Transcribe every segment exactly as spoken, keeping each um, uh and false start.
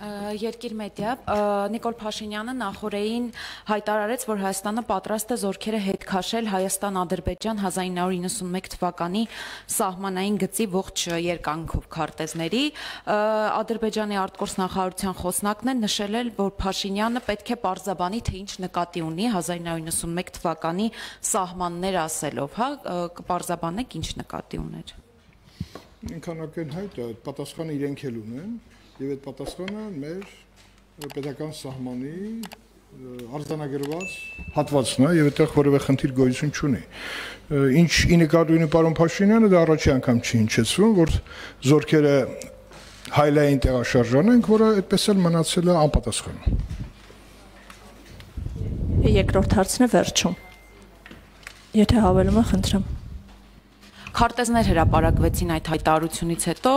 Երկիր մեդիա Նիկոլ Փաշինյանը նախորդին հայտարարեց, որ Հայաստանը պատրաստ է զորքերը հետ քաշել Հայաստան-Ադրբեջան հազար ինը հարյուր նվաթ թվականի սահմանային գծի ողջ երկայնքով քարտեզների։ Ադրբեջանի արտգործնախարարության խոսնակն է նշել, որ Փաշինյանը պետք է պարզաբանի, թե ինչ նկատի ունի հազար ինը հարյուր նվաթ թվականի սահմաններ ասելով, հա, կպարզաբանեք ինչ նկատի ուներ։ Ինքան ակնհայտ է, պատասխանը իրենք էլ ունեն, եւ այդ պատասխանը մեր պետական սահմանի արձանագրված հատվածն է եւ այդտեղ որևէ խնդիր գոյություն չունի։ Ինչ ի նկատի ունի պարոն Փաշինյանը, դա առաջի անգամ չի հնչեցվում, որ զորքերը հայլային տեղաշարժան ենք, որը այդպես էլ մնացել է անպատասխան։ Երկրորդ հարցն է վերջում։ Եթե հավելում եք, խնդրեմ։ Քարտեզներ հրապարակվեցին այդ հայտարարությունից հետո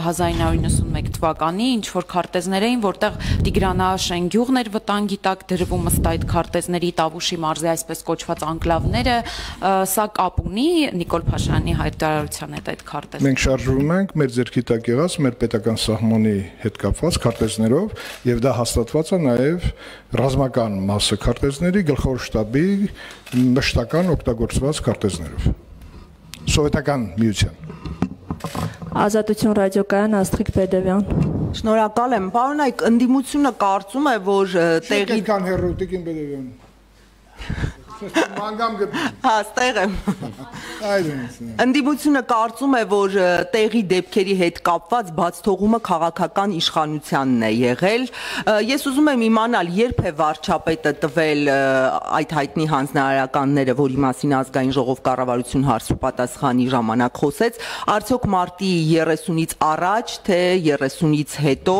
հազար ինը հարյուր նվաթ թվականի, ինչ որ քարտեզներ էին, որտեղ Տիգրանաշեն գյուղն էր վտանգի տակ դրվում ըստ այդ քարտեզների Տավուշի մարզի այսպես կոչված անկլավները, սա կապ ունի Նիկոլ Փաշինյանի հայտարարության հետ այդ քարտեզները։ Մենք շարժվում ենք մեր ձեռքի տակ եղած մեր պետական սահմանի հետ կապված քարտեզներով եւ դա հաստատված է նաեւ ռազմական մասը քարտեզների գլխավոր շտաբի մշտական օգտագործված քարտեզներով։ Սովետական միության։ Ազատություն ռադիոկայան Աստղիկ Բեդևյան։ Շնորհակալ եմ, պարոն Այկ, ընդդիմությունը կարծում է, որ տեղի Շնորհակալ հերո Տիկին Բեդևյան։ Մանգամ գտնի։ Հա, ստեղ եմ։ Ընդդիմությունը կարծում է, որ տեղի դեպքերի հետ կապված բացթողումը քաղաքական իշխանությանն է եղել։ Ես ուզում եմ իմանալ, երբ է վարչապետը տվել այդ հայտնի հանձնարարականները, որի մասին ազգային ժողով կառավարություն հարց ու պատասխանի ժամանակ խոսեց, արդյոք մարտի երեսունից առաջ, թե երեսունից հետո,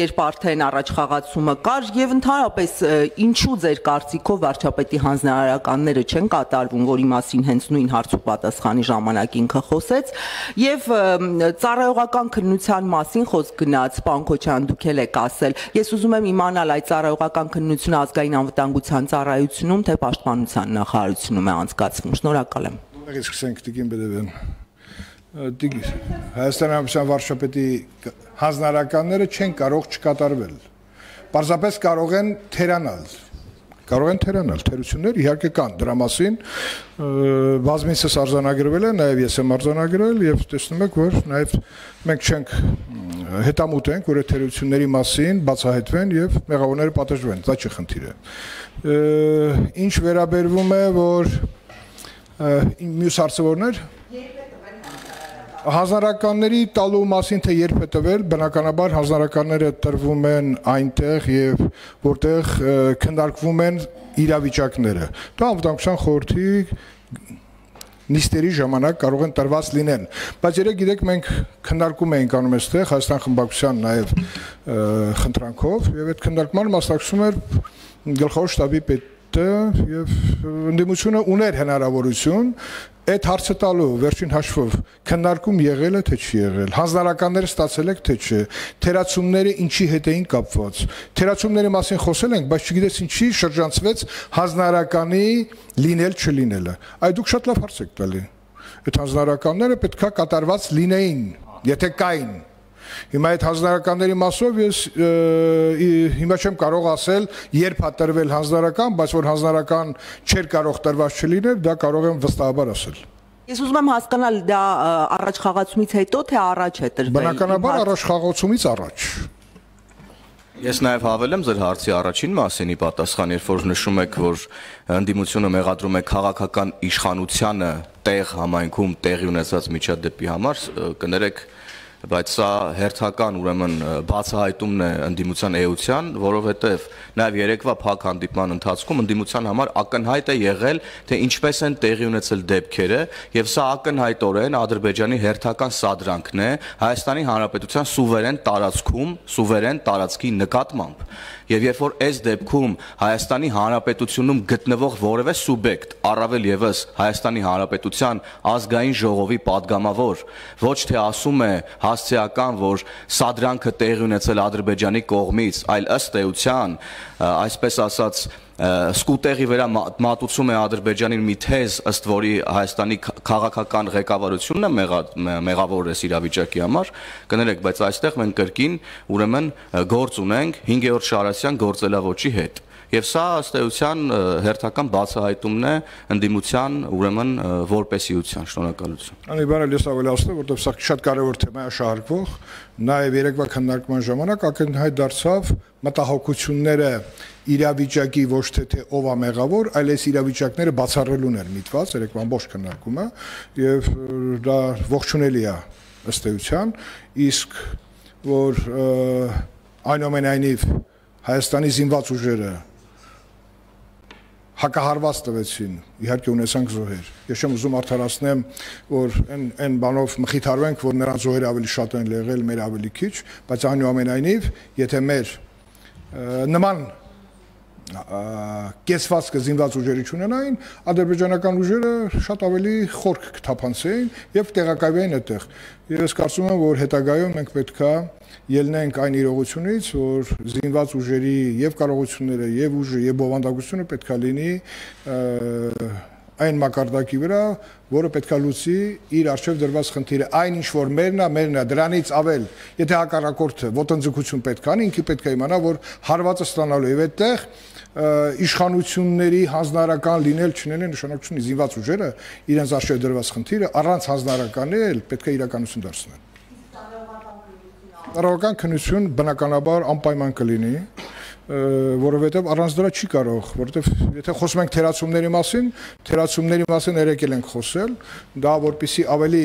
երբ արդեն առաջխաղացումը կար, եւ ընդհանրապես ինչու ձեր կարծիքով վարչապետի հանձնարարականները չեն կատարվում, որի մասին հենց նույն հարց ու պատասխանի ժամանակ ինքը խոսեց, եւ ծառայողական քննության մասին խոսք գնաց, պարոն Քոչարյան, դուք էլ եք ասել։ Ես ուզում եմ իմանալ, այդ ծառայողական քննությունը ազգային անվտանգության ծառայությունում, թե պաշտպանության նախարարությունում է անցկացվում։ Շնորհակալ եմ։ Ողջույն սկսենք Տիկին Բեդևյան։ Հայաստանի Հանրապետության վարչապետի հանձնարարականները չեն կարող չկատարվել։ Պարզապես կարող են թերանալ։ Կարող են թերանալ, թերություններ իհարկե կան, դրա մասին բազմիցս արձանագրվել է, նաև ես եմ արձանագրել եւ տեսնում եք, որ նաև մենք չենք հետամուտ ենք, որ այդ թերությունների մասին բացահայտվեն եւ մեղավորները պատժվեն, դա չի խնդիրը։ Ինչ վերաբերվում է, որ մյուս հարցը որն էր։ Հանձնարարականների տալու մասին թե երբ է տվել, բնականաբար հանձնարարականները տրվում են այնտեղ եւ որտեղ քննարկվում են իրավիճակները։ Դա անվտանգության խորհրդի նիստերի ժամանակ կարող են տրված լինեն, բայց երեք գիտեք մենք քննարկում էինք անում այստեղ Հայաստան խմբակցության նաեւ խնդրանքով եւ այդ քննարկման մասնակցում էր գլխավոր շտաբի պետը եւ ընդդիմությունը ուներ հնարավորություն այդ հարցը տալու վերջին հաշվով քննարկում եղել է թե չի եղել, հանձնարարականները ստացել եք թե չէ, թերացումները ինչի հետ էին կապված, թերացումների մասին խոսել ենք, բայց չգիտես ինչի շրջանցվեց հանձնարարականի լինել չլինելը։ Այդ դուք շատ լավ հարց եք տալի։ Այդ հանձնարարականները պետքա կատարված լինեին, եթե կային։ Հիմա այդ հանձնարարականների մասով ես հիմա չեմ կարող ասել երբ է տրվել հանձնարարական, բայց որ հանձնարարական չէր կարող տրված չլիներ, դա կարող եմ վստահաբար ասել։ Ես ուզում եմ հասկանալ, դա առաջխաղացումից հետո թե առաջ է տրվել։ Բնականաբար առաջխաղացումից առաջ։ Ես նաև հավելեմ ձեր հարցի առաջին մասին ի պատասխան, երբ որ նշում եք, որ ընդդիմությունը մեղադրում է քաղաքական իշխանությանը տեղ համայնքում տեղի ունեցած միջադեպի համար, կներեք բայց սա հերթական ուրեմն բացահայտումն է ընդդիմության էության, որովհետև նաև երեկվա փակ հանդիպման ընթացքում ընդդիմության համար ակնհայտ է եղել, թե ինչպես են տեղի ունեցել դեպքերը, եւ սա ակնհայտորեն Ադրբեջանի հերթական սադրանքն է Հայաստանի Հանրապետության սուվերեն տարածքում, սուվերեն տարածքի նկատմամբ։ Եվ երբ որ այս դեպքում Հայաստանի Հանրապետությունում գտնվող որևէ սուբյեկտ, առավել եւս Հայաստանի Հանրապետության ազգային ժողովի падգամավոր, ոչ թե ասում է փաստիական, որ սադրանքը տեղի ունեցել Ադրբեջանի կողմից, այլ ըստ էության, այսպես ասած, սկուտեղի վրա մատուցում է Ադրբեջանին մի թեզ, ըստ որի Հայաստանի քաղաքական ղեկավարությունն է մեղավոր այս իրավիճակի համար, կներեք, բայց այստեղ մենք կրկին ուրեմն գործ ունենք հինգերորդ Շարասյան գործելավոճի հետ։ Եվ սա ըստ էության հերթական բացահայտումն է ընդդիմության ուրեմն որպեսիության։ Շնորհակալություն։ Անի բանը ես ավելացնեմ, որտեղ սա շատ կարևոր թեմա է շահարկվող, նաև երեկվա քննարկման ժամանակ ակնհայտ դարձավ մտահոգությունները իրավիճակի ոչ թե թե ով է մեղավոր, այլ այս իրավիճակները բացառելուն էր միտված երեկվա ամբողջ քննարկումը եւ դա ողջունելի է ըստ էության, իսկ որ այնուամենայնիվ Հայաստանի զինված ուժերը հակահարված տվեցին, իհարկե ունեցանք զոհեր։ Ես չեմ ուզում արդարացնեմ, որ այն այն բանով մխիթարվենք, որ նրանց զոհերը ավելի շատ են եղել, մեր ավելի քիչ, բայց այնուամենայնիվ, եթե մեր նման կեսվածքը զինված ուժերի չունենային, ադրբեջանական ուժերը շատ ավելի խորք կթափանցեին եւ տեղակայվեին այդտեղ։ Ես կարծում եմ, որ հետագայում մենք պետքա ելնենք այն իրողությունից, որ զինված ուժերի եւ կարողությունները եւ ուժը եւ բովանդակությունը պետքա լինի այն մակարդակի վրա, որը պետքա լուծի իր արժեվ դրված խնդիրը, այն ինչ որ մերն է, մերն է, դրանից ավել, եթե հակառակորդը ոտնձգություն պետք անի, ինքը պետք է իմանա, որ հարվածը ստանալու եւ այդտեղ իշխանությունների հանձնարարական լինել չնենի նշանակություն զինված ուժերը իրենց արժեվ դրված խնդիրը առանց հանձնարարականի էլ պետք է իրականություն դարձնեն։ Տարողական քննություն բնականաբար անպայման կլինի, որովհետև առանց դրա չի կարող, որովհետև եթե խոսում ենք թերացումների մասին, թերացումների մասին երեկել ենք խոսել, դա որպեսզի ավելի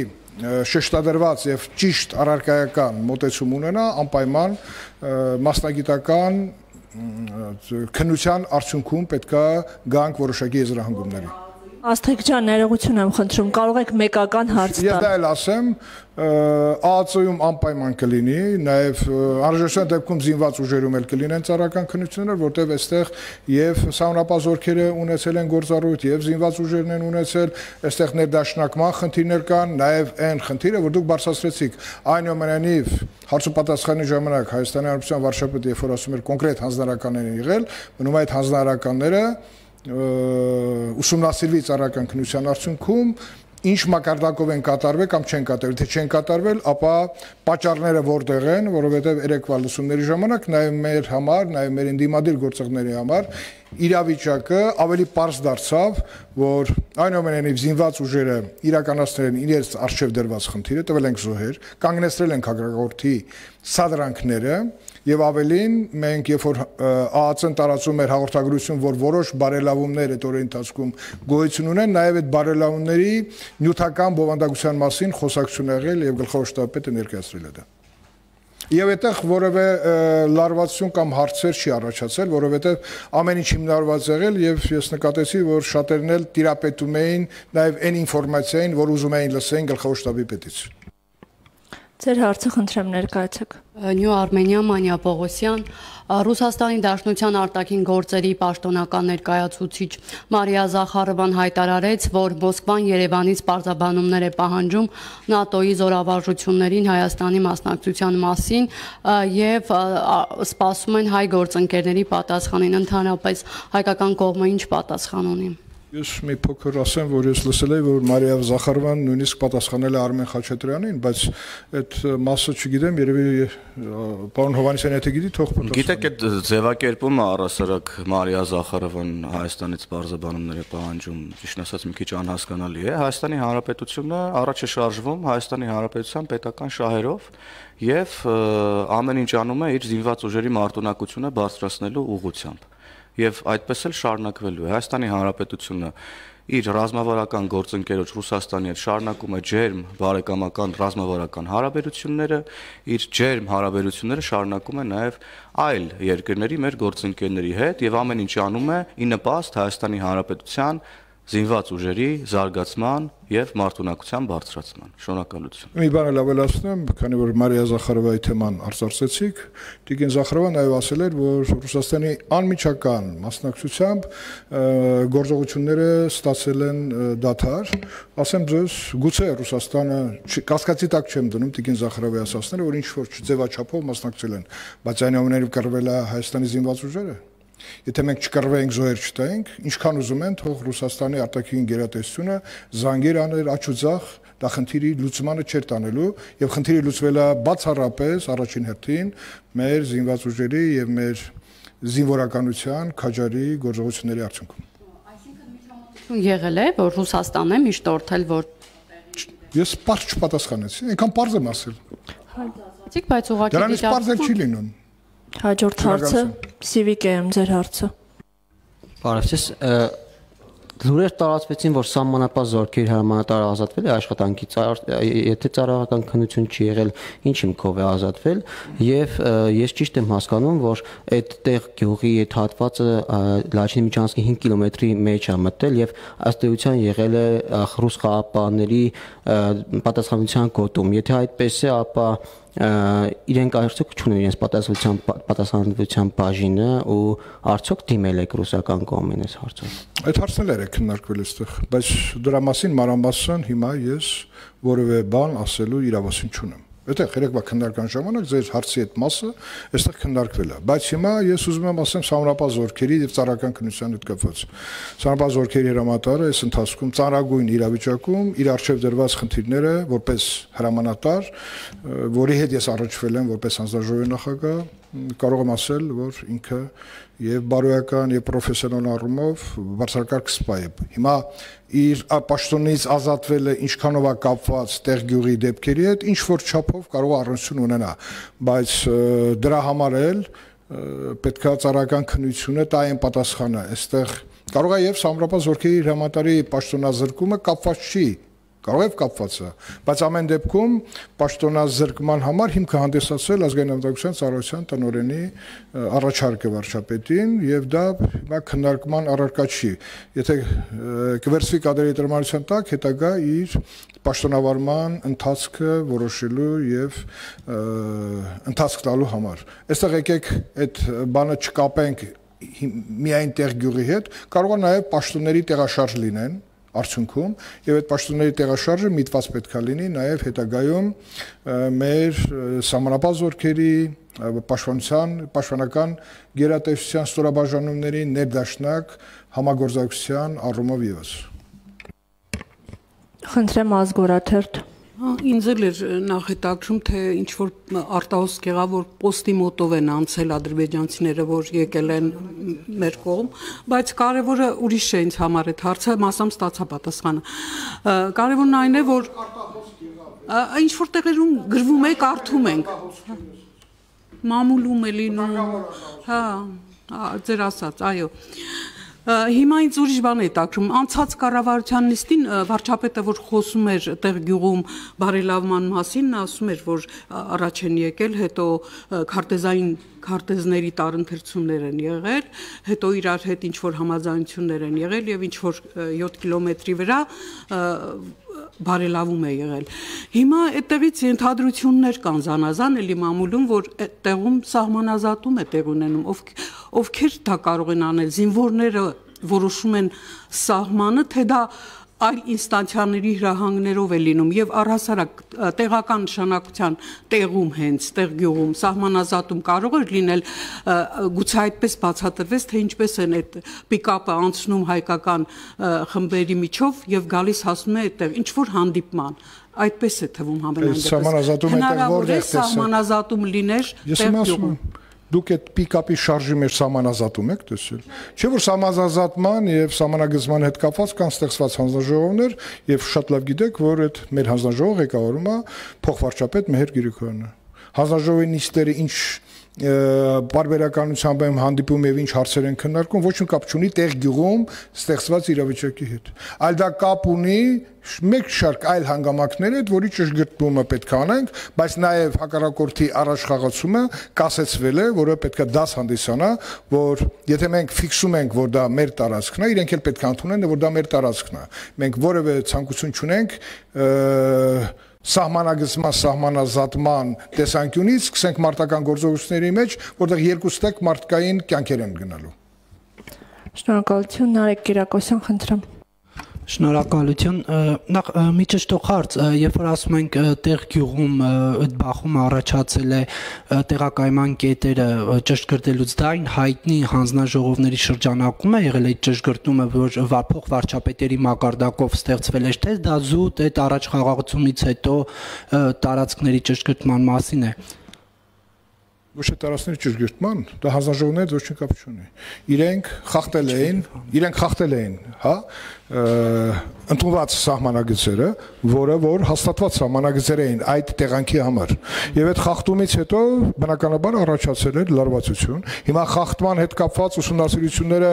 շեշտադրված եւ ճիշտ առարկայական մոտեցում ունենա, անպայման մասնագիտական քննության արդյունքում պետքա գանք որոշակի եզրահանգումների։ Աստղիկ ջան, ներողություն եմ խնդրում, կարող եք մեկական հարց տալ։ Ես դա էլ ասեմ, ԱԱԾ-ում անպայման կլինի, նաև անհրաժեշտության դեպքում զինված ուժերում էլ կլինեն ծառայական քննություններ, որտեղ այստեղ եւ սահմանապահ զորքերը ունեցել են գործառույթ, եւ զինված ուժերն են ունեցել, այստեղ ներդաշնակման խնդիրներ կան, նաև այն խնդիրը, որ դուք բարձրացրեցիք, այնուամենայնիվ հարցու պատասխանի ժամանակ Հայաստանի Հանրապետության վարչապետը երբ որ ասում էր կոնկրետ հանձնարարականներ են եղել, մնում այդ հանձնարարականները ուսումնասիրվի ծառայական քննության արդյունքում ինչ մակարդակով են կատարվել կամ չեն կատարվել, թե չեն կատարվել, ապա պատճառները որտեղ են, որովհետև երեկվա լսումների ժամանակ նաև մեր համար, նաև մեր ընդդիմադիր գործողների համար իրավիճակը ավելի պարզ դարձավ, որ այնուամենայնիվ զինված ուժերը իրականացնել են իրենց արժև դրված խնդիրը, տվել են զոհեր, կանգնեցրել են հակառակորդի սադրանքները եւ ավելին մենք երբ որ ԱԱԾ-ն տարածում էր հաղորդագրություն, որ որոշ բարելավումներ այդ օրերի ընթացքում գոյություն ունեն, նաեւ այդ բարելավումների նյութական բովանդակության մասին խոսակցություն եղել եւ գլխավոր շտաբը ներկայացրել է դա։ Եվ այդտեղ որևէ լարվածություն կամ հարցեր չի առաջացել, որովհետև ամեն ինչ հիմնարված եղել եւ ես նկատեցի, որ շատերն էլ տիրապետում էին նաեւ այն ինֆորմացիային, որ ուզում էին լսեն գլխավոր շտաբի պետից։ Ձեր հարցը խնդրեմ ներկայացեք։ Նյու Արմենիա, Մանյա Պողոսյան, Ռուսաստանի Դաշնության արտաքին գործերի պաշտոնական ներկայացուցիչ Մարիա Զախարովան հայտարարեց, որ Մոսկվան Երևանից պարզաբանումներ է պահանջում ՆԱՏՕ-ի զորավարժություններին Հայաստանի մասնակցության մասին եւ սպասում են հայ գործընկերների պատասխանին, ընդհանրապես հայկական կողմը ինչ պատասխան ունի։ Ես մի փոքր ասեմ, որ ես լսել եմ, որ Մարիա Զախարովան նույնիսկ պատասխանել է Արմեն Խաչատրյանին, բայց այդ մասը չգիտեմ, երևի պարոն Հովհաննիսյան եթե գիտի, թող պատասխանի։ Գիտեք, այդ ձևակերպումը առասարակ Մարիա Զախարովան Հայաստանից բարձաբանումներ է պահանջում, ճիշտ ասած մի քիչ անհասկանալի է։ Հայաստանի Հանրապետությունը առաջ է շարժվում Հայաստանի Հանրապետության պետական շահերով եւ ամեն ինչ անում է իր զինված ուժերի մարտունակությունը բարձրացնելու ուղղությամբ։ Եվ այդպես էլ շարունակվելու է։ Հայաստանի Հանրապետությունը իր ռազմավարական գործընկերոջ Ռուսաստանի հետ շարունակում է ջերմ բարեկամական ռազմավարական հարաբերությունները, իր ջերմ հարաբերությունները շարունակում է նաև այլ երկրների մեր գործընկերների հետ եւ ամեն ինչ անում է ի նպաստ Հայաստանի Հանրապետության զինված ուժերի զարգացման եւ մարդունակության բարձրացման։ Շնորհակալություն։ Մի բան էլ ավելացնեմ, քանի որ Մարիա Զախարովայի թեման արձարծեցիք, Տիկին Զախարովան նաև ասել էր, որ Ռուսաստանի անմիջական մասնակցությամբ գործողությունները ստացել են դադար, ասեմ ձեզ, գուցե Ռուսաստանը կասկածի տակ չեմ դնում Տիկին Զախարովի ասածները, որ ինչ որ ձևաչափով մասնակցել են, բայց այնուամենայնիվ կռվել է Հայաստանի զինված ուժերը։ Եթե մենք չկռվեինք, զոհեր չտայինք, ինչքան ուզում են, թող Ռուսաստանի արտաքին գերատեսչությունը զանգեր աներ աչուձախ, դա խնդիրի լուծմանը չէր տանելու, եւ խնդիրը լուծվել է բացառապես առաջին հերթին մեր զինված ուժերի եւ մեր զինվորականության քաջարի գործողությունների արդյունքում։ Այսինքն միջամտություն եղել է, որ Ռուսաստանն է միշտ օրթել, որ Ես պարզ չպատասխանեցի, այնքան պարզ եմ ասել։ Հայցիկ, բայց ուղղակի Դրանից պարզ էլ չի լինում։ Հաջորդ հարցը Civic եմ ձեր հարցը։ Բարև ձեզ, լուրեր տարածվեցին, որ սահմանապահ զորքերի հրամանատարը ազատվել է աշխատանքից, եթե ծառայական քննություն չի եղել, ինչ հիմքով է ազատվել, եւ ես ճիշտ եմ հասկանում, որ այդտեղ գյուղի այդ հատվածը Լաչինի միջանցքի հինգ կիլոմետրի մեջ է մտել եւ ըստ էության եղել է ռուս խաղապահների պատասխանատվության գոտում։ Եթե այդպես է, ապա իրենք արդյոք չունեն իրենց պատասխանատվության պատասխանատվության բաժինը ու արդյոք դիմել եք ռուսական կողմին այս հարցով։ Այդ հարցն էր քննարկվել այստեղ, բայց դրա մասին մանրամասն հիմա ես որևէ բան ասելու իրավասություն չունեմ։ Այդտեղ երեկվա քննարկման ժամանակ ձեր հարցի այդ մասը այստեղ քննարկվել է, բայց հիմա ես ուզում եմ ասեմ սահմանապահ զորքերի եւ ծառայական քննության հետ կապված։ Սահմանապահ զորքերի հրամանատարը այս ընթացքում ծառայագույն իրավիճակում իր արժեվ դրված խնդիրները որպես հրամանատար, որի հետ ես առաջվել եմ որպես հանձնաժողովի նախագահ, կարող եմ ասել, որ ինքը եւ բարոյական եւ պրոֆեսիոնալ առումով բարձրակարգ սպա է։ Հիմա իր պաշտոնից ազատվել է ինչքանով է կապված տեղ գյուղի դեպքերի հետ, ինչ որ չափով կարող առնչություն ունենա, բայց դրա համար էլ պետքա ծառայական քննությունը տա այն պատասխանը, այստեղ կարող է եւ սահմանապահ զորքերի հրամանատարի պաշտոնազրկումը կապված չի, կարող է կապված է, բայց ամեն դեպքում պաշտոնազրկման համար հիմք հանդիսացել ազգային անվտանգության ծառայության տնօրենի առաջարկը վարչապետին եւ դա հիմա քննարկման առարկա չի։ Եթե կվերցվի կադրերի տրամադրության տակ, հետագա իր պաշտոնավարման ընթացքը որոշելու եւ ընթացք տալու համար։ Այստեղ եկեք այդ բանը չկապենք միայն տեղ գյուղի հետ, կարող է նաեւ պաշտոնների տեղաշարժ լինեն արդյունքում եւ այդ պաշտոնների տեղաշարժը միտված պետք է լինի նաեւ հետագայում մեր սահմանապահ զորքերի պաշտպանության պաշտպանական գերատեսչության ստորաբաժանումների ներդաշնակ համագործակցության առումով եւս։ Խնդրեմ Ազգորաթերթ։ Ինձ էլ էր նախետաքրում, թե ինչ որ արտահոսք եղավ, որ պոստի մոտով են անցել ադրբեջանցիները, որ եկել են մեր կողմ, բայց կարևորը ուրիշ է ինձ համար այդ հարցը, մասամբ ստացա պատասխանը։ Կարևորն այն է, որ ինչ որ տեղերում գրվում է, կարդում ենք։ Մամուլում է լինում, հա, ձեր ասած, այո։ Հիմա ինձ ուրիշ բան է տակրում, անցած կառավարության նիստին վարչապետը, որ խոսում էր տեղ գյուղում բարելավման մասին, նա ասում էր, որ առաջ են եկել, հետո քարտեզային քարտեզների տարընթերցումներ են եղել, հետո իրար հետ ինչ-որ համաձայնություններ են եղել եւ ինչ-որ յոթ կիլոմետրի վրա բարելավում է եղել։ Հիմա այդտեղից ենթադրություններ կան զանազան էլի մամուլում, որ տեղում սահմանազատում է տեղ ունենում, ովքեր դա կարող են անել, զինվորները որոշում են սահմանը, թե դա այլ ինստանցիաների հրահանգներով է լինում եւ առհասարակ տեղական նշանակության տեղում հենց տեղ գյուղում սահմանազատում կարող է լինել գուցե այդպես բացատրվեց թե ինչպես են այդ պիկապը անցնում հայկական խմբերի միջով եւ գալիս հասնում է այդտեղ ինչ որ հանդիպման այդպես է թվում համենայն դեպս հնարավոր է սահմանազատում լիներ տեղ գյուղում Դուք այդ պիկապի շարժի մեջ սահմանազատում եք տեսել։ Չէ՞ որ սահմանազատման եւ սահմանագծման հետ կապված կան ստեղծված հանձնաժողովներ եւ շատ լավ գիտեք, որ այդ մեր հանձնաժողովը ղեկավարում է փոխվարչապետ Մեհեր Գիրիքյանը։ Հանձնաժողովի նիստերը ինչ բարբերականությամբ եմ հանդիպում եւ ինչ հարցեր են քննարկում, ոչ մի կապ չունի տեղ գյուղում ստեղծված իրավիճակի հետ։ Այլ դա կապ ունի մեկ շարք այլ հանգամանքների հետ, որի ճշգրտումը պետք է անենք, բայց նաեւ հակառակորդի առաջխաղացումը կասեցվել է, որը պետք է դաս հանդիսանա, որ եթե մենք ֆիքսում ենք, որ դա մեր տարածքն է, իրենք էլ պետք է ընդունեն, որ դա մեր տարածքն է։ Մենք որևէ ցանկություն չունենք սահմանագծման, սահմանազատման տեսանկյունից սկսենք մարտական գործողությունների մեջ, որտեղ երկու ստեկ մարդկային կյանքեր են գնալու։ Շնորհակալություն, Նարեկ Կիրակոսյան, խնդրեմ։ Շնորհակալություն, նախ մի ճշտող հարց, երբ որ ասում ենք տեղ գյուղում այդ բախումը առաջացել է տեղակայման կետերը ճշգրտելուց, դա այն հայտնի հանձնաժողովների շրջանակում է եղել այդ ճշգրտումը, որ փոխ վարչապետերի մակարդակով ստեղծվել է, թե դա զուտ այդ առաջխաղացումից հետո տարածքների ճշգրտման մասին է։ Ոչ թե տարածքների ճշգրտման, դա հանձնաժողովներից ոչ մի կապ չունի։ Իրենք խախտել էին, իրենք խախտել էին, հա, ընդունված սահմանագծերը, որը որ հաստատված սահմանագծեր էին այդ տեղանքի համար։ Եվ այդ խախտումից հետո բնականաբար առաջացել էր լարվածություն։ Հիմա խախտման հետ կապված ուսումնասիրությունները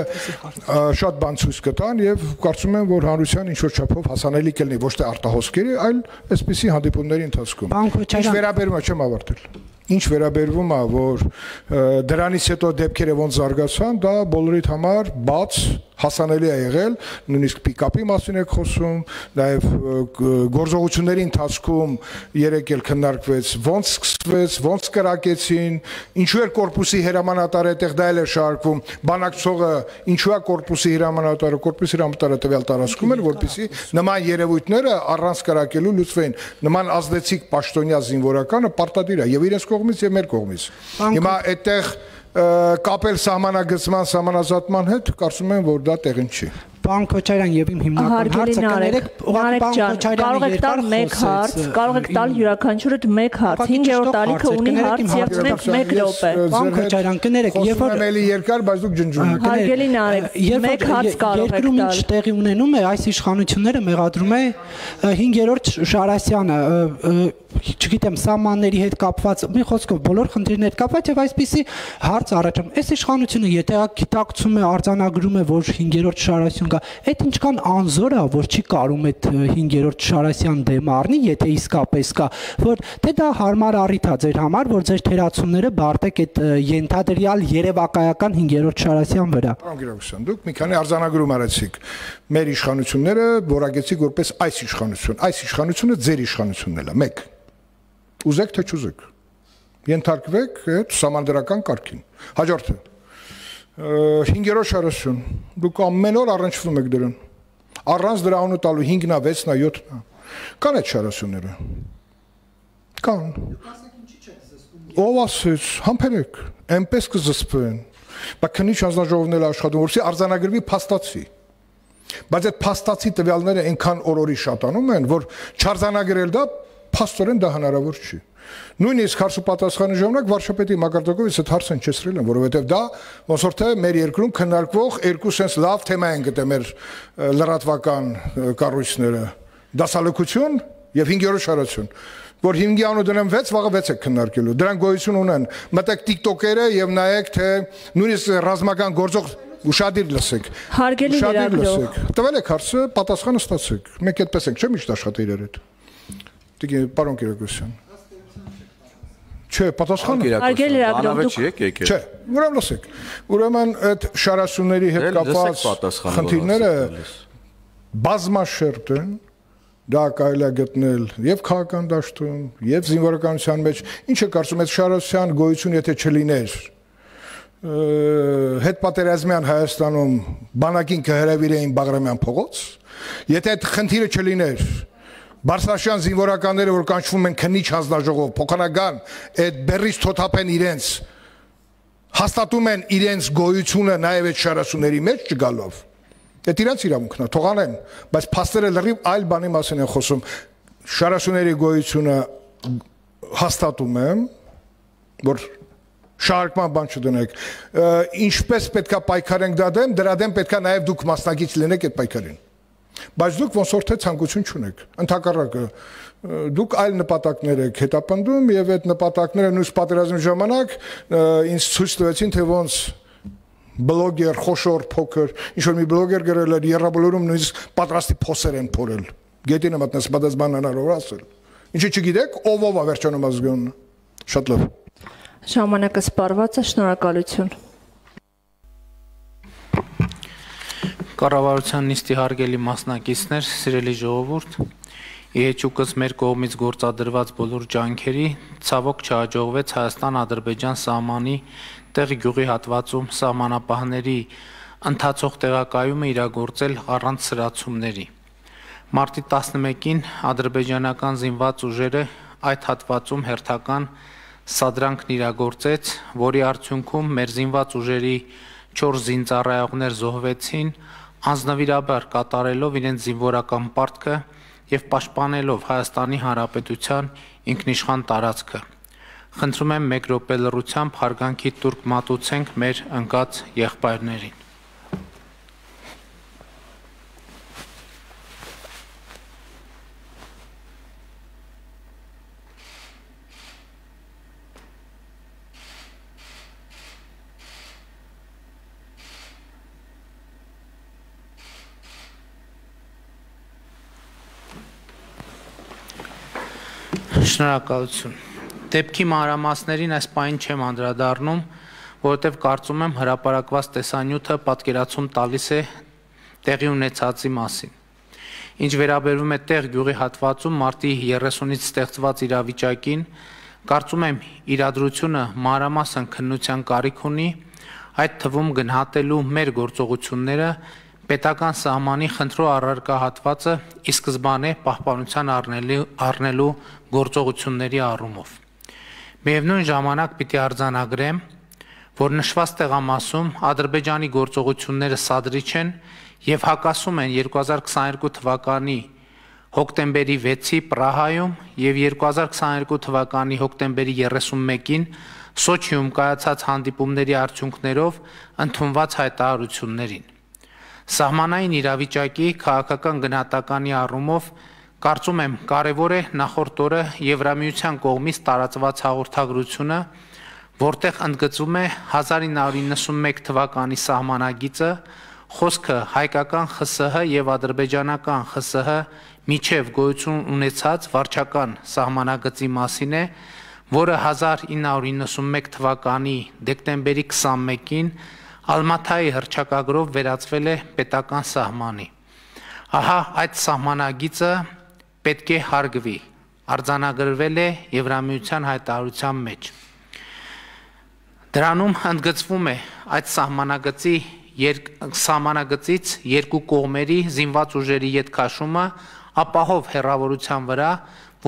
շատ բան ցույց կտան եւ կարծում եմ, որ հանրության ինչ որ չափով հասանելի կլինի ոչ թե արտահոսքերի, այլ այսպիսի հանդիպումների ընթացքում։ Ինչ վերաբերում է, չեմ ավարտել։ Ինչ վերաբերվում է, որ դրանից հետո դեպքերը ոնց զարգացան, դա բոլորիդ համար բաց հասանելի է եղել, նույնիսկ պիկապի մասին եք խոսում, նաև գործողությունների ընթացքում երեք էլ քննարկվեց, ոնց սկսվեց, ոնց կրակեցին, ինչու էր կորպուսի հրամանատարը այդտեղ դա էլ էր շարքում, բանակցողը ինչու է կորպուսի հրամանատարը, կորպուսի հրամանատարը տվյալ տարածքում էր, որպեսզի նման երևույթները առանց կրակելու լուծվեին, նման ազդեցիկ պաշտոնյա զինվորականը պարտադիր է եւ իրենց կողմից եւ մեր կողմից։ Հիմա այդտեղ կապել սահմանագծման, սահմանազատման հետ, կարծում եմ, որ դա տեղին չի։ Պարոն Քոչարյան, եւ իմ հիմնական հարցը կներեք, Նարեկ ջան, կարող եք տալ մեկ հարց, կարող եք տալ յուրաքանչյուրդ մեկ հարց, հինգերորդ տարիքը ունի հարց եւ մենք մեկ րոպե։ Պարոն Քոչարյան, կներեք, երբ որ էլի երկար, բայց դուք ջնջում եք։ Հարգելի Նարեկ, մեկ հարց կարող եք երկրում տալ։ ինչ տեղի ունենում է, այս իշխանությունները մեղադրում է հինգերորդ Շարասյանը, չգիտեմ, սահմանների հետ կապված, մի խոսքով բոլոր խնդիրների հետ կապված եւ այսպիսի հարց առաջում։ Այս իշխանությունը եթե գիտակցում է, արձանագրում է, որ հինգերորդ Շարասյան կա, այդ ինչքան անզոր է, որ չի կարում այդ հինգերորդ Շարասյան դեմ առնի, եթե իսկապես կա, որ թե դա հարմար առիթ է ձեր համար, որ ձեր թերացումները բարտեք այդ ենթադրյալ երևակայական հինգերորդ Շարասյան վրա։ Պարոն Գիրակոսյան, դուք մի քանի արձանագրում արեցիք։ Մեր իշխանությունները որակեցիք որպես այս իշխանություն, այս իշխանությունը ձեր իշխանությունն է, մեկ։ Ուզեք թե չուզեք։ Ենթարկվեք այդ սահմանադրական կարգին։ Հաջորդը հինգերորդ Շարասյուն, դուք ամեն օր առնչվում եք դրան։ Առանց դրա անունը տալու հինգնա, վեցնա, յոթնա։ Կան այդ Շարասյունները։ Կան։ Ով ասեց, համբերեք, այնպես կզսպեն։ Բայց քննիչ հանձնաժողովն էլ աշխատում, որպեսզի արձանագրվի փաստացի։ Բայց այդ փաստացի տվյալները այնքան օրորի շատանում են, որ չարձանագրել դա փաստորեն դա հնարավոր չի։ Նույնիսկ հարցու պատասխանի ժամանակ վարչապետի մակարդակով այդ հարցը հնչեցրել են, որովհետև դա ոնց որ թե մեր երկրում քննարկվող երկու sense լավ թեմա են գտել մեր լրատվական կառույցները՝ դասալքություն եւ հինգերորդ Շարասյուն, որ հինգի անու դնեմ վեց, վաղը վեց եք քննարկելու։ Դրանք գոյություն ունեն։ Մտեք TikTok-երը եւ նայեք թե նույնիսկ ռազմական գործող ուշադիր լսեք։ Հարգելի լրագրող, տվել եք հարցը, պատասխանը ստացեք։ Մենք այդպես ենք, չէ՞ միշտ աշխատի իրար հետ։ Դիգե պարոն Կիրակոսյան։ Չէ, պատասխանը։ Հարգելի լրագրող, դուք Չէ, ուրեմն լսեք։ Ուրեմն այդ Շարասյունների հետ կապված խնդիրները բազմաշերտ են, դա կարելի է գտնել եւ քաղաքական դաշտում, եւ զինվորականության մեջ։ Ինչ է կարծում այդ Շարասյան գոյություն եթե չլիներ, հետպատերազմյան Հայաստանում բանակին կհրավիրեին Բաղրամյան փողոց, եթե այդ խնդիրը չլիներ, Բարսաշյան զինվորականները, որ կանչվում են քննիչ հանձնաժողով, փոխանական այդ բերից թոթափեն իրենց, հաստատում են իրենց գոյությունը նաև այդ Շարասյունների մեջ չգալով։ Այդ իրենց իրավունքն է, թողանեն, բայց փաստերը լրիվ այլ բանի մասին են խոսում։ Շարասյունների գոյությունը հաստատում եմ, որ շարժման բան չդնեք։ Ինչպես պետքա պայքարենք դա դեմ, դրա դեմ պետքա նաև դուք մասնակից լինեք այդ պայքարին։ Բայց դուք ոնց որ թե ցանկություն չունեք։ Ընդհակառակը դուք այլ նպատակներ եք հետապնդում եւ այդ նպատակները նույնիսկ պատերազմի ժամանակ ինձ ցույց տվեցին, թե ոնց բլոգեր, խոշոր, փոքր, ինչ որ մի բլոգեր գրել էր երրաբոլորում նույնիսկ պատրաստի փոսեր են փորել։ Գետին եմ մտնես պատասխան հնարավոր ասել։ Ինչի չգիտեք, ով ով է վերջանում ազգյունը։ Շատ լավ։ Ժամանակը սպառված է, շնորհակալություն։ Կառավարության նիստի հարգելի մասնակիցներ, սիրելի ժողովուրդ, իհեճուկս մեր կողմից գործադրված բոլոր ջանքերի ցավոք չհաջողվեց Հայաստան-Ադրբեջան սահմանի տեղ գյուղի հատվածում սահմանապահների ընթացող տեղակայումը իրագործել առանց սրացումների։ Մարտի տասնմեկին ադրբեջանական զինված ուժերը այդ հատվածում հերթական սադրանքն իրագործեց, որի արդյունքում մեր զինված ուժերի չորս զինծառայողներ զոհվեցին, անձնվիրաբար կատարելով իրենց զինվորական պարտքը եւ պաշտպանելով Հայաստանի Հանրապետության ինքնիշխան տարածքը։ Խնդրում եմ մեկ րոպե լռությամբ հարգանքի տուրք մատուցենք մեր ընկած եղբայրներին։ Շնորհակալություն։ Դեպքի մանրամասներին այս պահին չեմ անդրադառնում, որովհետև կարծում եմ հրապարակված տեսանյութը պատկերացում տալիս է տեղի ունեցածի մասին։ Ինչ վերաբերում է տեղ գյուղի հատվածում մարտի երեսունից ստեղծված իրավիճակին, կարծում եմ իրադրությունը մանրամասն քննության կարիք ունի, այդ թվում գնահատելու մեր գործողությունները պետական սահմանի խնդրո առարկա հատվածը ի սկզբանե պահպանության առնելու գործողությունների առումով։ Միևնույն ժամանակ պիտի արձանագրեմ, որ նշված տեղամասում Ադրբեջանի գործողությունները սադրիչ են եւ հակասում են երկու հազար քսաներկու թվականի հոկտեմբերի վեցի Պրահայում եւ երկու հազար քսաներկու թվականի հոկտեմբերի երեսունմեկին Սոչիում կայացած հանդիպումների արդյունքներով ընդունված հայտարարություններին։ Սահմանային իրավիճակի քաղաքական գնահատականի առումով կարծում եմ կարևոր է նախորդ օրը Եվրամիության կողմից տարածված հաղորդագրությունը, որտեղ ընդգծվում է հազար ինը հարյուր իննսունմեկ թվականի սահմանագիծը, խոսքը հայկական ԽՍՀ եւ ադրբեջանական ԽՍՀ միջև գոյություն ունեցած վարչական սահմանագծի մասին է, որը հազար ինը հարյուր իննսունմեկ թվականի դեկտեմբերի քսանմեկին Ալմաթայի հռչակագրով վերածվել է պետական սահմանի։ Ահա այդ սահմանագիծը պետք է հարգվի, արձանագրվել է Եվրամիության հայտարարության մեջ։ Դրանում ընդգծվում է այդ սահմանագծի սահմանագծից երկու կողմերի զինված ուժերի ետքաշումը ապահով հեռավորության վրա,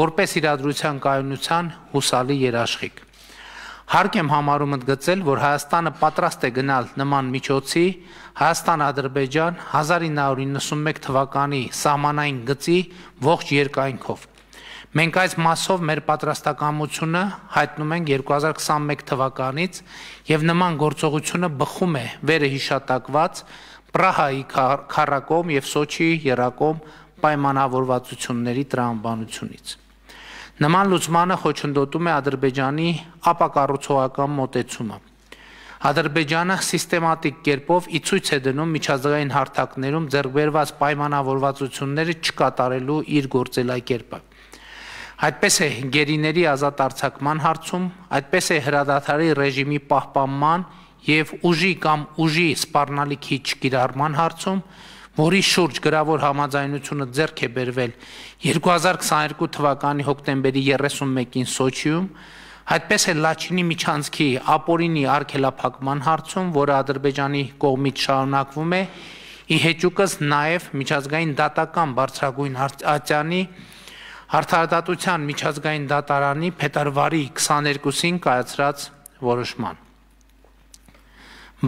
որպես իրադրության կայունության հուսալի երաշխիք։ Հարկ եմ համարում ընդգծել, որ Հայաստանը պատրաստ է գնալ նման միջոցի Հայաստան-Ադրբեջան հազար ինը հարյուր իննսունմեկ թվականի սահմանային գծի ողջ երկայնքով։ Մենք այս մասով մեր պատրաստակամությունը հայտնում ենք երկու հազար քսանմեկ թվականից եւ նման գործողությունը բխում է վերը հիշատակված Պրահայի քառակողմ եւ Սոչիի եռակողմ պայմանավորվածությունների տրամաբանությունից։ Նման լուծմանը խոչընդոտում է Ադրբեջանի ապակառուցողական մոտեցումը։ Ադրբեջանը սիստեմատիկ կերպով ի ցույց է դնում միջազգային հարթակներում ձեռք բերված պայմանավորվածությունները չկատարելու իր գործելակերպը։ Այդպես է գերիների ազատ արձակման հարցում, այդպես է հրադադարի ռեժիմի պահպանման եւ ուժի կամ ուժի սպառնալիքի չկիրառման հարցում, որի շուրջ գրավոր համաձայնությունը ձեռք է բերվել երկու հազար քսաներկու թվականի հոկտեմբերի երեսունմեկին Սոչիում, այդպես է Լաչինի միջանցքի ապօրինի արգելափակման հարցում, որը Ադրբեջանի կողմից շարունակվում է, ի հեճուկս նաև միջազգային դատական բարձրագույն ատյանի Արդարադատության միջազգային դատարանի փետրվարի քսաներկուսին կայացրած որոշման։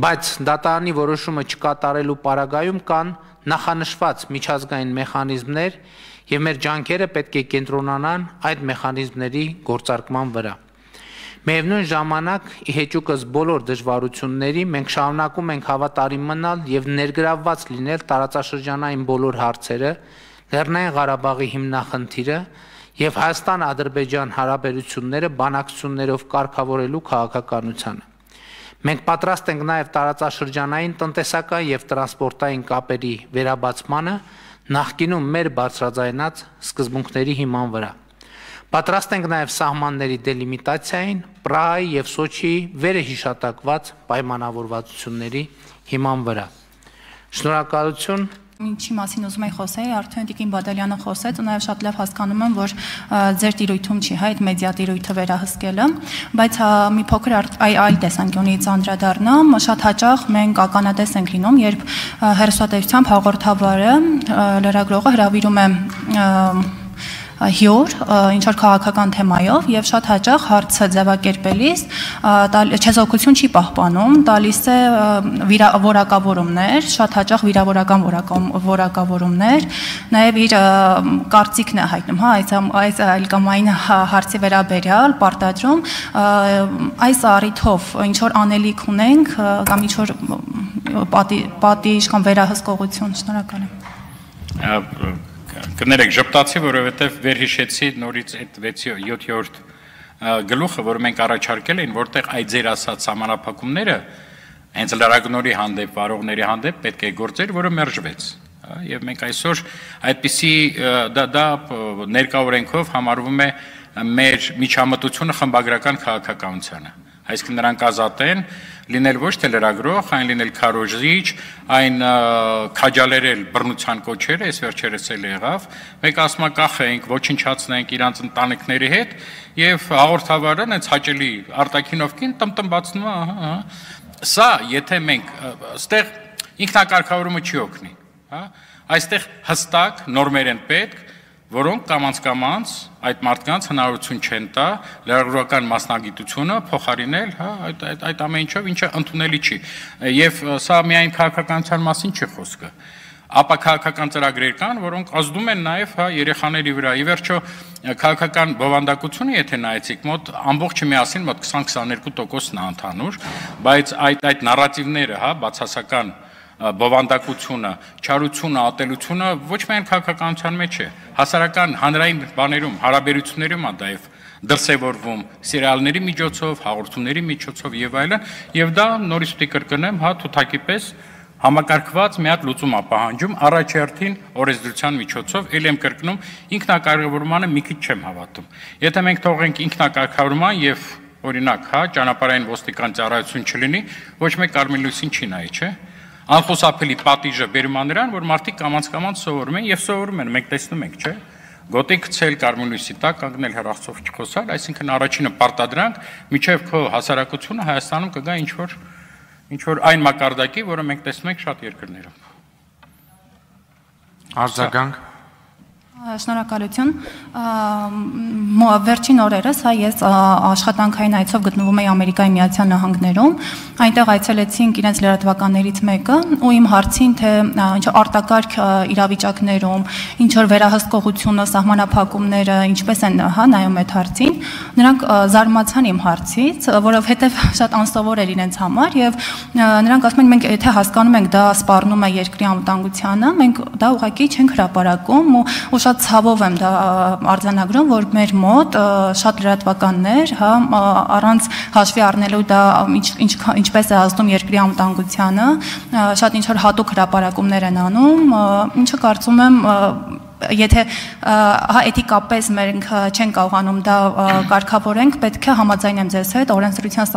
Բայց դատարանի որոշումը չկատարելու պարագայում կան նախանշված միջազգային մեխանիզմներ եւ մեր ջանքերը պետք է կենտրոնանան այդ մեխանիզմների գործարկման վրա։ Միևնույն ժամանակ, ի հեճուկս բոլոր դժվարությունների, մենք շարունակում ենք հավատարիմ մնալ եւ ներգրավված լինել տարածաշրջանային բոլոր հարցերը, Լեռնային Ղարաբաղի հիմնախնդիրը եւ Հայաստան-Ադրբեջան հարաբերությունները բանակցություններով կարգավորելու քաղաքականությանը։ Մենք պատրաստ ենք նաև տարածաշրջանային տնտեսական եւ տրանսպորտային կապերի վերաբացմանը նախկինում մեր բարձրաձայնած սկզբունքների հիման վրա։ Պատրաստ ենք նաև սահմանների դելիմիտացիային, Պրահայի եւ Սոչիի վերհիշատակված պայմանավորվածությունների հիման վրա։ Շնորհակալություն։ Ինչի մասին ուզում եմ խոսել, արդեն Տիկին Բադալյանը խոսեց ու նաև շատ լավ հասկանում եմ, որ ձեր տիրույթում չի, հա, այդ մեդիա տիրույթը վերահսկելը, բայց մի փոքր այլ տեսանկյունից անդրադառնամ, շատ հաճախ մենք ականատես ենք լինում, երբ հեռուստատեսությամբ հաղորդավարը, լրագրողը հրավիրում է հյուր, ինչ որ քաղաքական թեմայով եւ շատ հաճախ հարցը ձևակերպելիս չեզոքություն չի պահպանում, տալիս է որակավորումներ, շատ հաճախ վիրավորական որակավորումներ, նաեւ իր կարծիքն է հայտնում, հա, այս այս այլ կամ այն հարցի վերաբերյալ պարտադրում, այս առիթով ինչ որ անելիք ունենք կամ ինչ որ պատիժ կամ վերահսկողություն, շնորհակալ եմ։ Կներեք, ժպտացի, որովհետև վերհիշեցի նորից այդ վեցի յոթերորդ գլուխը, որ մենք առաջարկել էին, որտեղ այդ ձեր ասած սահմանափակումները հենց լրագրողների հանդեպ, վարողների հանդեպ պետք է գործեր, որը մերժվեց։ Եվ մենք այսօր այդպիսի դա ներկա օրենքով համարվում է մեր միջամտությունը խմբագրական քաղաքականությանը։ Այսինքն նրանք ազատ են լինել ոչ թե լրագրող, այն լինել քարոզիչ, այն քաջալերել բռնության կոչերը, այս վերջերս էլ եղավ, մեկ ասում է կախենք, ոչնչացնենք իրանց ընտանիքների հետ, եւ հաղորդավարը այնց հաճելի արտաքինով կին տմտմբացնում է, ահա, սա, եթե մենք այստեղ ինքնակարգավորումը չի օգնի, հա, այստեղ հստակ նորմեր են պետք, որոնք կամաց-կամաց այդ մարդկանց հնարավորություն չեն տա լրագրողական մասնագիտությունը փոխարինել, հա, այդ այդ այդ ամեն ինչով, ինչը ընդունելի չի։ Եվ սա միայն քաղաքականության մասին չի խոսքը։ Ապա քաղաքական ծրագրեր կան, որոնք ազդում են նաև, հա, երեխաների վրա։ Ի վերջո քաղաքական բովանդակությունը, եթե նայեցիք, մոտ ամբողջը միասին մոտ քսան-քսաներկու տոկոսն է ընդհանուր, բայց այդ այդ նարատիվները, հա, բացասական բովանդակությունը, չարությունը, ատելությունը ոչ միայն քաղաքականության մեջ է, հասարակական հանրային բաներում, հարաբերություններում է դա դրսևորվում, սերիալների միջոցով, հաղորդումների միջոցով եւ այլն, եւ դա նորից պիտի կրկնեմ, հա, թութակի պես համակարգված մի հատ լուծում է պահանջում առաջերտին օրենսդրության միջոցով, ել եմ կրկնում, ինքնակարգավորմանը մի քիչ չեմ հավատում։ Եթե մենք թողենք ինքնակարգավորման եւ օրինակ, հա, ճանապարհային ոստիկան ծառայություն չլինի, ոչ մեկ կարմիր լույսին չի նայի, չէ՞։ Անխուսափելի պատիժը բերում է նրան, որ մարդիկ կամաց-կամաց սովորում են եւ սովորում են, մենք տեսնում ենք, չէ՞։ Գոտի գցել կարմիր լույսի տակ, կանգնել հեռախոսով չխոսալ, այսինքն առաջինը պարտադրանք, միջև քո հասարակությունը Հայաստանում կգա ինչ որ ինչ որ այն մակարդակի, որը մենք տեսնում ենք շատ երկրներում։ Արձագանք։ Շնորհակալություն։ Վերջին օրերս հա ես աշխատանքային այցով գտնվում էի Ամերիկայի Միացյալ Նահանգներում, այնտեղ այցելեցինք իրենց լրատվականներից մեկը ու իմ հարցին թե ինչ արտակարգ իրավիճակներում ինչ որ վերահսկողությունը, սահմանափակումները ինչպես են հա նայում այդ հարցին, նրանք զարմացան իմ հարցից, որովհետև շատ անսովոր էր իրենց համար եւ նրանք ասում են մենք եթե հասկանում ենք դա սպառնում է երկրի անվտանգությանը, մենք դա ուղղակի չենք հրապարակում ու շատ ցավով եմ դա արձանագրում, որ մեր մոտ շատ լրատվականներ, հա, առանց հաշվի առնելու դա ինչ ինչպես է ազդում երկրի անվտանգությանը, շատ ինչ որ հատուկ հրապարակումներ են անում, ինչը կարծում եմ եթե հա էթիկապես մենք չենք կարողանում դա կարգավորենք, պետք է համաձայնեմ ձեզ հետ օրենսդրության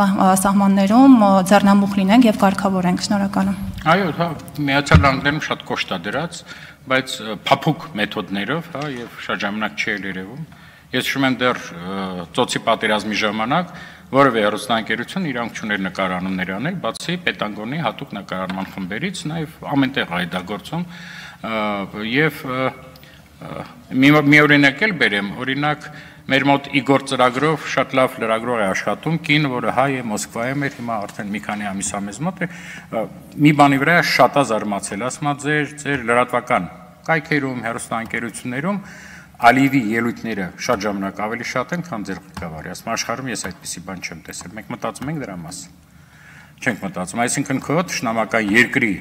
սահմաններում ձեռնամուխ լինենք եւ կարգավորենք։ Շնորհակալ եմ։ Այո, հա, Միացյալ Նահանգներում շատ կոշտ է դրած, բայց փափուկ մեթոդներով, հա, եւ շատ ժամանակ չի երևում։ Ես հիշում եմ դեռ ծոցի պատերազմի ժամանակ որևէ հեռուստաընկերություն իրանք չուներ նկարանումներ անել, բացի Պետանգոնի հատուկ նկարանման խմբերից, նաեւ ամենտեղ է դա գործում եւ մի օրինակ էլ բերեմ, օրինակ մեր մոտ Իգոր ծրագրով շատ լավ լրագրող է աշխատում, կին, որը հայ է, Մոսկվայում էր, հիմա արդեն մի քանի ամիս է մեզ մոտ է, մի բանի վրա շատ է զարմացել, ասում է ձեր ձեր լրատվական կայքերում, հեռուստաընկերություններում Ալիևի ելույթները շատ ժամանակ ավելի շատ են, քան ձեր ղեկավարի, ասում աշխարհում ես այդպիսի բան չեմ տեսել, մենք մտածում ենք դրա մասին, չենք մտածում, այսինքն քո թշնամական երկրի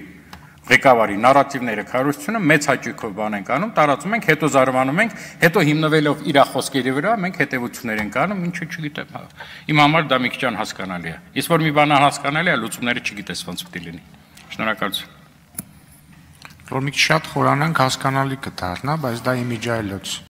ղեկավարի նարատիվները քարոզությունը մեծ հաճույքով բան ենք անում, տարածում ենք, հետո զարմանում ենք, հետո հիմնվելով իր խոսքերի վրա մենք հետևություններ ենք անում, ինչու չգիտեմ, հա։ Իմ համար դա մի քիչ անհասկանալի է։ Իսկ որ մի բան անհասկանալի է, լուծումները չգիտես ոնց պետք է լինի։ Շնորհակալություն։ Որ մի քիչ շատ խորանանք հասկանալի կդառնա, բայց դա իմիջայլոց